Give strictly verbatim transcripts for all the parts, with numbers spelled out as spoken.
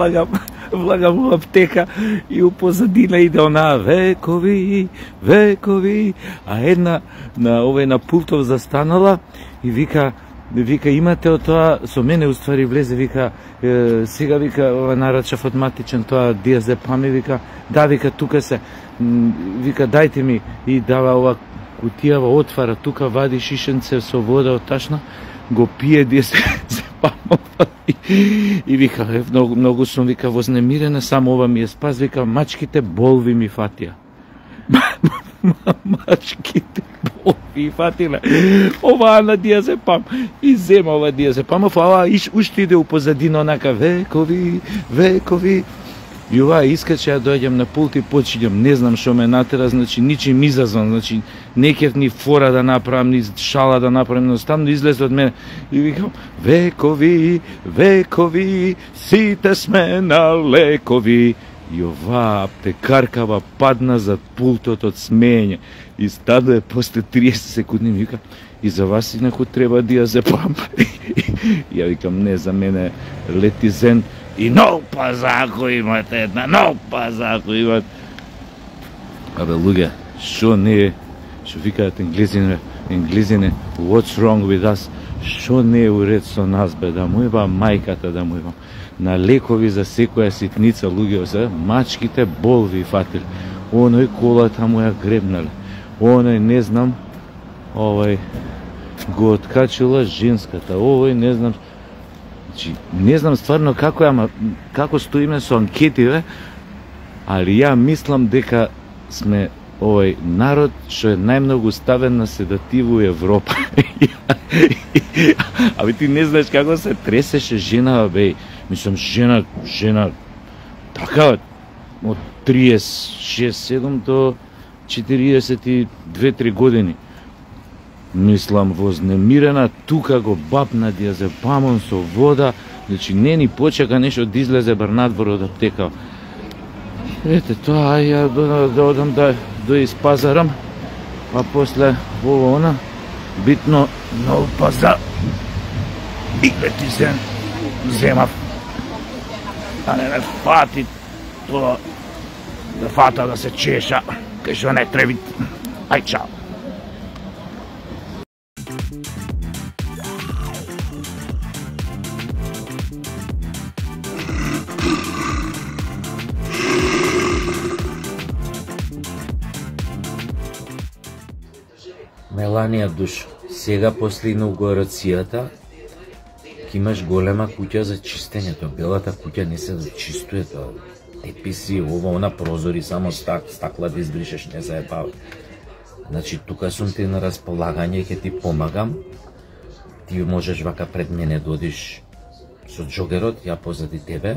влагам, влагам во аптека и у позадина иде онаа векови, векови, а една на овој на пултов застанала и вика, вика имате од тоа, со мене уствари влезе, вика е, сега вика ова нарачав автоматичен тоа диазепам и вика да, вика тука се, вика дајте ми и дава ова кутијава, отвара тука, вади шишенце со вода од ташна, го пие диазепамов и, и вика е, многу, многу сум вика вознемирена, само ова ми е спас, вика мачките болви ми фатија. Мачките болви фатиле. Ова на диазепам. И зема ова диазепамов, а ова уште иде у позадина онака векови, векови. И ова искаче ја дојдем на пулт и почињам, не знам што ме натера, значи ничим изазван, значи не кев ни фора да направам, ни шала да направам, едноставно излезе од мене и викам векови, векови, сите сме на лекови. И оваа аптекаркава падна зад пултот од смеење и стаде после триесет секунди ми вика и за вас инаку треба диазепам. Ја викам не, за мене летизен и нов пазако имате една, нов пазако имате. Абе луѓе, шо не е, шо викаат енглезине, енглезине, what's wrong with us, шо не е уред со нас бе, да му еба мајката, да му еба. На лекови за секоја ситница луѓе се, мачките болви фатил. Оној колата му ја гребнале. Оној не знам, овој го откачила женската. Овој не знам, значи не знам стварно како ја, ама како стоиме со анкетиве, али ја мислам дека сме овој народ што е најмногу ставен на седативу Европа. Абе ти не знаеш како се тресеше жена, бе. Мислам, жена, жена, така, од триесет шест седум до четириесет и две три години. Мислам, вознемирена, тука го бапна диазепамон со вода, значи не ни почека нешто да излезе бар надвор од аптека. Ете тоа, ја да, да одам да, да испазарам, а после ово она, битно нов пазар и летизен земав. А не ме фати тоа, да фата да се чеша, кај што не треби. Ај, чао. Меланија Душ, сега после инаугурацијата ќе имаш голема куќа за чистењето. Белата куќа не се зачистуе тоа. Теписи, ова, она прозори, само стак, стакла да избришеш, не заебава. Значи, тука сум ти на располагање, ќе ти помагам. Ти можеш вака пред мене да одиш со джогерот, ја позади тебе.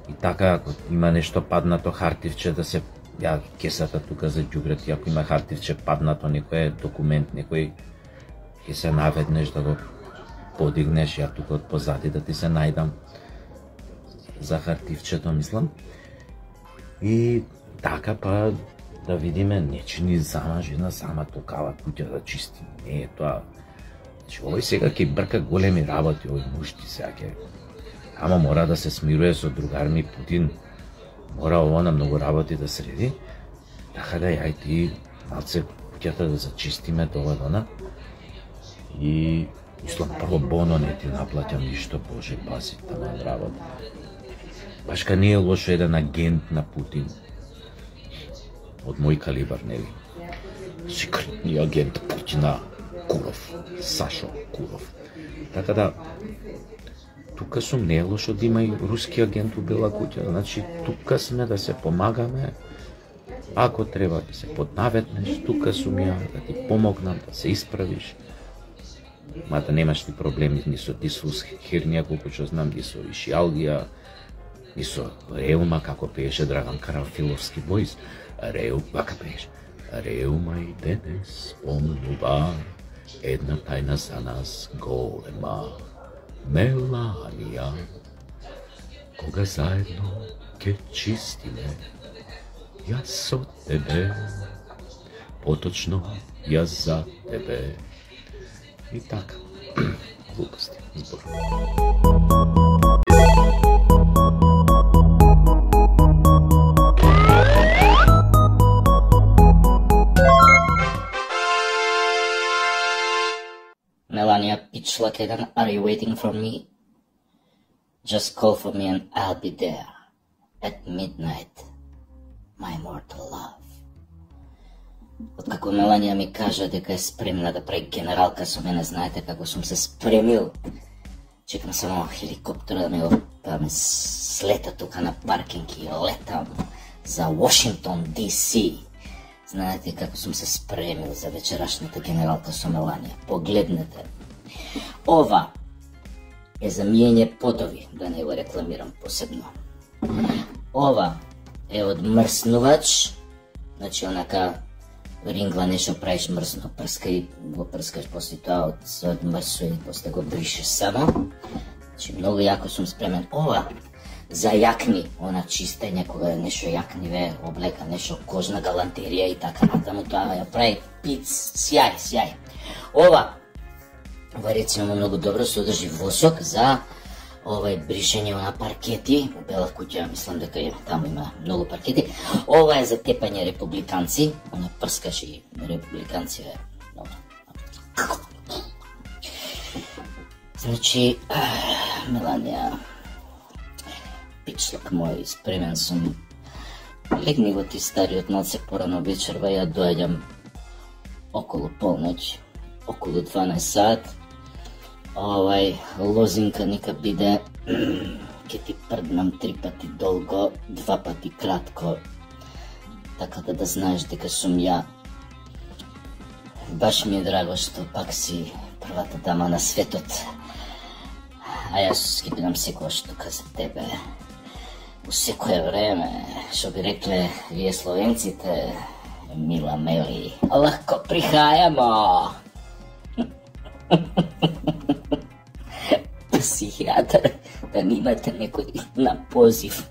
И така, ако има нешто паднато хартивче, да се ја кесата тука за ѓубрет, ако има хартивче паднато, некој документ, некој ќе се наведнеш да го подигнеш, ја тука од позади да ти се најдам за хартивчето, мислам. И така па да видиме, не че ни сама жена, сама токава куќа да чисти. Не е тоа. Значи, овој сега ќе брка големи работи, овој мушти сега ќе. Ама мора да се смирува со другар ми Путин. Мора ово на многу работи да среди. Така да ја и ти малце куќата да зачистиме тоа дона. И мислам, прво боно не ти наплатам ништо, Боже, пази таман работа. Баш ка не е лошо еден агент на Путин. Од мој калибар, нели? Секретни агент Путина, Куров, Сашо Куров. Така да, тука сум, не е лошо да има и руски агент у Бела куќа. Значи, тука сме да се помагаме. Ако треба да се поднаветнеш, тука сум ја, да ти помогнам, да се исправиш. Мада немаш ти проблеми ни со дисфуз хернија, колку што знам, ни со ишиалгија, ни со реума, како пееше Драган Карамфиловски бојс. Реу, вака пееше. Реума и денес спомнува една тајна за нас голема. Меланија, кога заедно ке чистиме, јас со тебе, поточно јас за тебе. И така, глупости, збор. Pitchlock jedan, are you waiting for me? Just call for me and I'll be there at midnight, my mortal love. Откако Меланија ми кажа дека е спремна да прави генералка со мене, знаете како сум се спремил. Чекам само хеликоптера да ми го да ме слета тука на паркинг и летам за Вашингтон, Ди Си. Знаете како сум се спремил за вечерашната генералка со Меланија. Погледнете. Ова е за миење потови, да не го рекламирам посебно. Ова е од мрснувач, значи онака рингла нешто правиш мрсно, прскај, го прскаш после тоа од се одмрсува и после го бришеш само. Значи многу јако сум спремен. Ова за јакни, она чистење кога нешто јакни ве облека, нешто кожна галантерија и така натаму, тоа ја прави пиц, сјај, сјај. Ова Ова рецимо многу добро содржи восок за овај бришење на паркети. У Бела куќа мислам дека е, таму има многу паркети. Ова е за тепање републиканци, она прскаш и републиканци е добро. Значи, Меланија, Питчлок мој, спремен сум. Легни го ти стариот малце порано вечерва, ја доаѓам околу полноќ, околу дванаесет сат. Овај лозинка нека биде, ке ти прднам три пати долго, два пати кратко, така да да знаеш дека сум ја. Баш ми е драго што пак си првата дама на светот, а јас ќе бидам секогаш тука за тебе. У секое време, што би рекле вие словенците, мила Мели, лако прихајамо. Психијатар, да немате некој на позив.